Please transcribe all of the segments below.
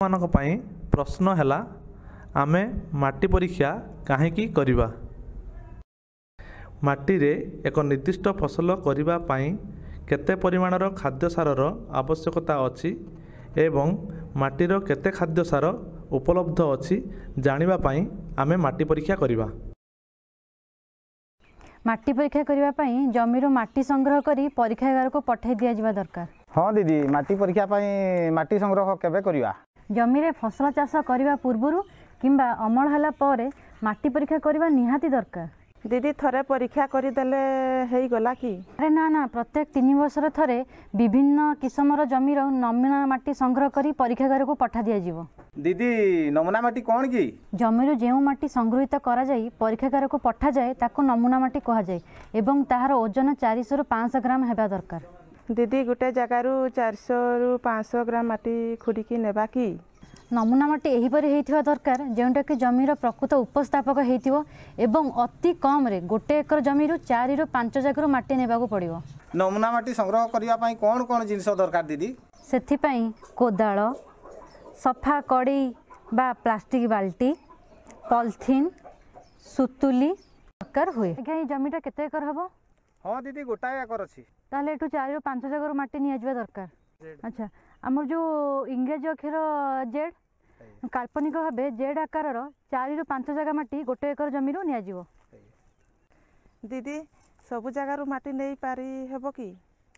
ମାନଙ୍କ ପାଇଁ ପ୍ରଶ୍ନ ହେଲା, ଆମେ ମାଟି ପରୀକ୍ଷା କାହିଁକି କରିବା? ମାଟିରେ ଏକ ନିର୍ଦ୍ଦିଷ୍ଟ ଫସଲ କରିବା ପାଇଁ କେତେ ପରିମାଣର ଖାଦ୍ୟ ସାରର ଆବଶ୍ୟକତା ଅଛି ଏବଂ ମାଟିର କେତେ ଖାଦ୍ୟ ସାର ଉପଲବ୍ଧ ଅଛି ଜାଣିବା ପାଇଁ ଆମେ ମାଟି ପରୀକ୍ଷା କରିବା। ମାଟି ପରୀକ୍ଷା କରିବା ପାଇଁ ଜମିରୁ ମାଟି ସଂଗ୍ରହ କରି ପରୀକ୍ଷାଗାରକୁ ପଠାଇ ଦିଆଯିବା ଦରକାର। ହଁ ଦିଦି, ମାଟି ପରୀକ୍ଷା ପାଇଁ ମାଟି ସଂଗ୍ରହ କେବେ କରିବା? ଜମିରେ ଫସଲ ଚାଷ କରିବା ପୂର୍ବରୁ କିମ୍ବା ଅମଳ ହେଲା ପରେ ମାଟି ପରୀକ୍ଷା କରିବା ନିହାତି ଦରକାର। ଦିଦି, ଥରେ ପରୀକ୍ଷା କରିଦେଲେ ହେଇଗଲା କି? ଆରେ ନା ନା, ପ୍ରତ୍ୟେକ 3 ବର୍ଷର ଥରେ ବିଭିନ୍ନ କିସମର ଜମିର ନମୁନା ମାଟି ସଂଗ୍ରହ କରି ପରୀକ୍ଷାଗାରକୁ ପଠା ଦିଆଯିବ। ଦିଦି, ନମୁନା ମାଟି କ'ଣ କି? ଜମିରୁ ଯେଉଁ ମାଟି ସଂଗୃହୀତ କରାଯାଇ ପରୀକ୍ଷାଗାରକୁ ପଠାଯାଏ ତାକୁ ନମୁନା ମାଟି କୁହାଯାଏ ଏବଂ ତାହାର ଓଜନ 400ରୁ 500 ଗ୍ରାମ ହେବା ଦରକାର। ଦିଦି, ଗୋଟେ ଜାଗାରୁ 400ରୁ 500 ଗ୍ରାମ ମାଟି ଖୁଡ଼ିକି ନେବା କି? ନମୁନା ମାଟି ଏହିପରି ହେଇଥିବା ଦରକାର ଯେଉଁଟାକି ଜମିର ପ୍ରକୃତ ଉପସ୍ଥାପକ ହେଇଥିବ ଏବଂ ଅତି କମ୍ରେ 1 ଏକର ଜମିରୁ 4ରୁ 5 ଜାଗାରୁ ମାଟି ନେବାକୁ ପଡ଼ିବ। ନମୁନା ମାଟି ସଂଗ୍ରହ କରିବା ପାଇଁ କ'ଣ କ'ଣ ଜିନିଷ ଦରକାର ଦିଦି? ସେଥିପାଇଁ କୋଦାଳ, ସଫା କଡ଼େଇ ବା ପ୍ଲାଷ୍ଟିକ୍ ବାଲ୍ଟି, ପଲିଥିନ୍, ସୁତୁଲି ଦରକାର ହୁଏ। ଆଜ୍ଞା, ଏଇ ଜମିଟା କେତେ ଏକର ହେବ? ହଁ ଦିଦି, 1 ଏକର ଅଛି। ତାହେଲେ ଏଠୁ 4ରୁ 5 ଜାଗାରୁ ମାଟି ନିଆଯିବା ଦରକାର। ଆଚ୍ଛା, ଆମର ଯେଉଁ ଇଂରାଜୀ ଅକ୍ଷର ଜେଡ୍, କାଳ୍ପନିକ ଭାବେ ଜେଡ୍ ଆକାରର 4ରୁ 5 ଜାଗା ମାଟି 1 ଏକର ଜମିରୁ ନିଆଯିବ। ଦିଦି, ସବୁ ଜାଗାରୁ ମାଟି ନେଇପାରି ହେବ କି?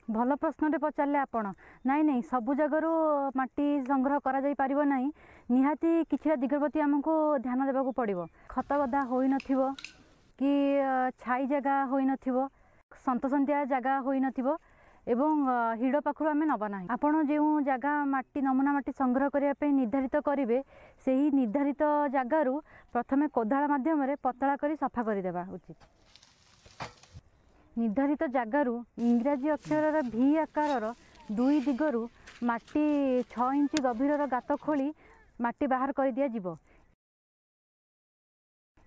ଭଲ ପ୍ରଶ୍ନଟେ ପଚାରିଲେ ଆପଣ। ନାଇଁ ନାଇଁ, ସବୁ ଜାଗାରୁ ମାଟି ସଂଗ୍ରହ କରାଯାଇପାରିବ ନାହିଁ। ନିହାତି କିଛିଟା ଦିଗ ପ୍ରତି ଆମକୁ ଧ୍ୟାନ ଦେବାକୁ ପଡ଼ିବ। ଖତ ଗଦା ହୋଇନଥିବ କି ଛାଇ ଜାଗା ହୋଇନଥିବ, ସନ୍ତସନ୍ତିଆ ଜାଗା ହୋଇନଥିବ ଏବଂ ହିଡ଼ ପାଖରୁ ଆମେ ନେବା ନାହିଁ। ଆପଣ ଯେଉଁ ଜାଗା ମାଟି ନମୁନା ମାଟି ସଂଗ୍ରହ କରିବା ପାଇଁ ନିର୍ଦ୍ଧାରିତ କରିବେ, ସେହି ନିର୍ଦ୍ଧାରିତ ଜାଗାରୁ ପ୍ରଥମେ କୋଦାଳ ମାଧ୍ୟମରେ ପତଳା କରି ସଫା କରିଦେବା ଉଚିତ। ନିର୍ଦ୍ଧାରିତ ଜାଗାରୁ ଇଂରାଜୀ ଅକ୍ଷରର ଭି ଆକାରର 2 ଦିଗରୁ ମାଟି 6 ଇଞ୍ଚ ଗଭୀରର ଗାତ ଖୋଳି ମାଟି ବାହାର କରିଦିଆଯିବ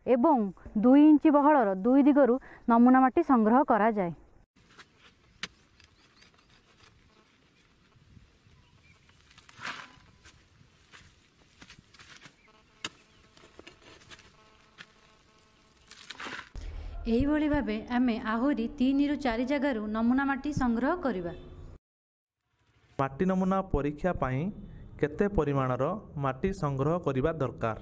ଏବଂ 2 ଇଞ୍ଚ ବହଳର 2 ଦିଗରୁ ନମୁନା ମାଟି ସଂଗ୍ରହ କରାଯାଏ। ଏହିଭଳି ଭାବେ ଆମେ ଆହୁରି 3ରୁ 4 ଜାଗାରୁ ନମୁନା ମାଟି ସଂଗ୍ରହ କରିବା। ମାଟି ନମୁନା ପରୀକ୍ଷା ପାଇଁ କେତେ ପରିମାଣର ମାଟି ସଂଗ୍ରହ କରିବା ଦରକାର?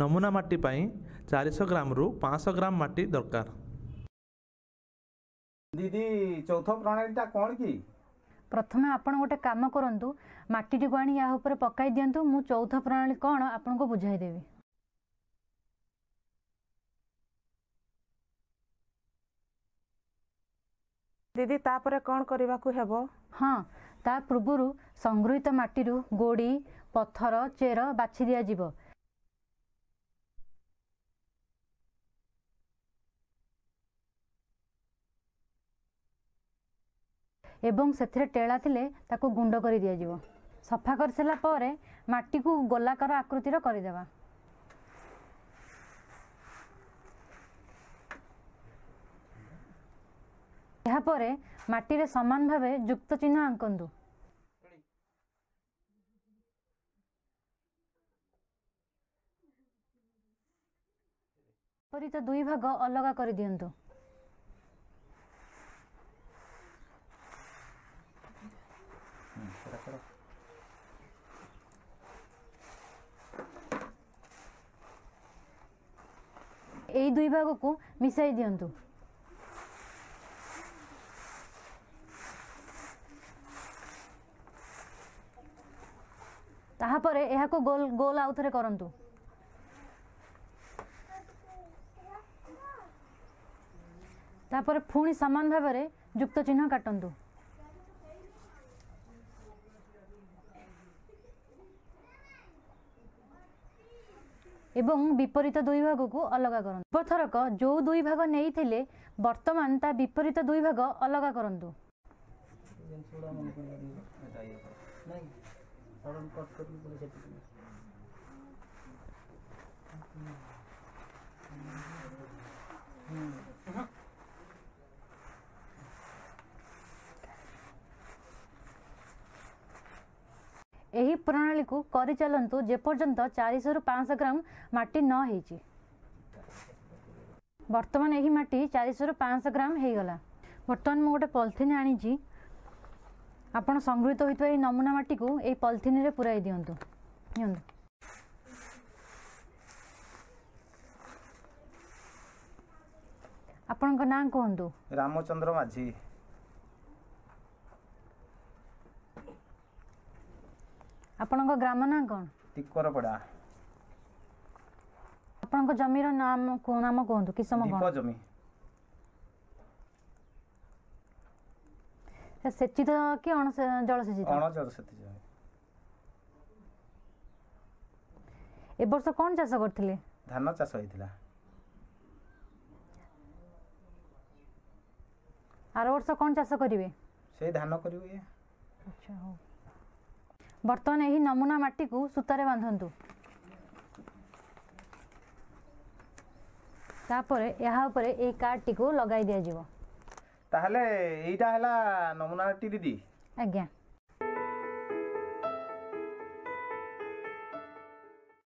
ନମୁନା ମାଟି ପାଇଁ 400 ଗ୍ରାମରୁ 500 ଗ୍ରାମ ମାଟି ଦରକାର। ଦିଦି, ଚୌଥ ପ୍ରଣାଳୀଟା କ'ଣ କି? ପ୍ରଥମେ ଆପଣ ଗୋଟେ କାମ କରନ୍ତୁ, ମାଟିଟିକୁ ଆଣି ୟା ଉପରେ ପକାଇ ଦିଅନ୍ତୁ। ମୁଁ ଚୌଥ ପ୍ରଣାଳୀ କ'ଣ ଆପଣଙ୍କୁ ବୁଝାଇଦେବି। ଦିଦି, ତାପରେ କ'ଣ କରିବାକୁ ହେବ? ହଁ, ତା ପୂର୍ବରୁ ସଂଗୃହୀତ ମାଟିରୁ ଗୋଡ଼ି, ପଥର, ଚେର ବାଛି ଦିଆଯିବ ଏବଂ ସେଥିରେ ଟେଳା ଥିଲେ ତାକୁ ଗୁଣ୍ଡ କରି ଦିଆଯିବ। ସଫା କରିସାରିଲା ପରେ ମାଟିକୁ ଗୋଲାକାର ଆକୃତିର କରିଦେବା। ଏହାପରେ ମାଟିରେ ସମାନ ଭାବେ ଯୁକ୍ତ ଚିହ୍ନ ଆଙ୍କନ୍ତୁ। ବିପରୀତ 2 ଭାଗ ଅଲଗା କରିଦିଅନ୍ତୁ। ଏଇ 2 ଭାଗକୁ ମିଶାଇ ଦିଅନ୍ତୁ। ତାହାପରେ ଏହାକୁ ଗୋଲ ଗୋଲ ଆଉ ଥରେ କରନ୍ତୁ। ତାପରେ ପୁଣି ସମାନ ଭାବରେ ଯୁକ୍ତ ଚିହ୍ନ କାଟନ୍ତୁ। ଏବଂ ବିପରୀତ 2 ଭାଗକୁ ଅଲଗା କରନ୍ତୁ। ପୂର୍ବଥରକ ଯେଉଁ 2 ଭାଗ ନେଇଥିଲେ ବର୍ତ୍ତମାନ ତା ବିପରୀତ 2 ଭାଗ ଅଲଗା କରନ୍ତୁ। ପ୍ରଣାଳୀକୁ କରିଚାଲନ୍ତୁ ଯେପର୍ଯ୍ୟନ୍ତ 400ରୁ 500 ଗ୍ରାମ ମାଟି ନ ହେଇଛି। ବର୍ତ୍ତମାନ ଏହି ମାଟି 400ରୁ 500 ଗ୍ରାମ ହେଇଗଲା। ବର୍ତ୍ତମାନ ମୁଁ ଗୋଟେ ପଲିଥିନ୍ ଆଣିଛି। ଆପଣ ସଂଗୃହୀତ ହୋଇଥିବା ଏହି ନମୁନା ମାଟିକୁ ଏହି ପଲିଥିନରେ ପୁରାଇ ଦିଅନ୍ତୁ। ନିଅନ୍ତୁ। ଆପଣଙ୍କ ନାଁ କୁହନ୍ତୁ। ରାମଚନ୍ଦ୍ର ମାଝୀ। ଆପଣଙ୍କ ଗ୍ରାମ ନାଁ କ'ଣ? ଟିକରପଡ଼ା। ଆପଣଙ୍କ ଜମିର ନାମ କୁହନ୍ତୁ, କିସମ ଢିପ କ'ଣ? ଜମି। ସେଚିତ କି ଅଣ ଜଳସେଚିତ? ଅଣ ଜଳସେଚିତ ଜମି। ଏ ବର୍ଷ କ'ଣ ଚାଷ କରିଥିଲେ? ଧାନ ଚାଷ ହେଇଥିଲା। ଆର ବର୍ଷ କ'ଣ ଚାଷ କରିବେ? ସେଇ ଧାନ କରିବୁ ଇଏ। ଆଚ୍ଛା, ହଉ। ବର୍ତ୍ତମାନ ଏହି ନମୁନା ମାଟିକୁ ସୂତାରେ ବାନ୍ଧନ୍ତୁ। ତାପରେ ଏହା ଉପରେ ଏଇ କାର୍ଡ଼ଟିକୁ ଲଗାଇ ଦିଆଯିବ। ତାହେଲେ ଏଇଟା ହେଲା ନମୁନାଟି ଦିଦି? ଆଜ୍ଞା।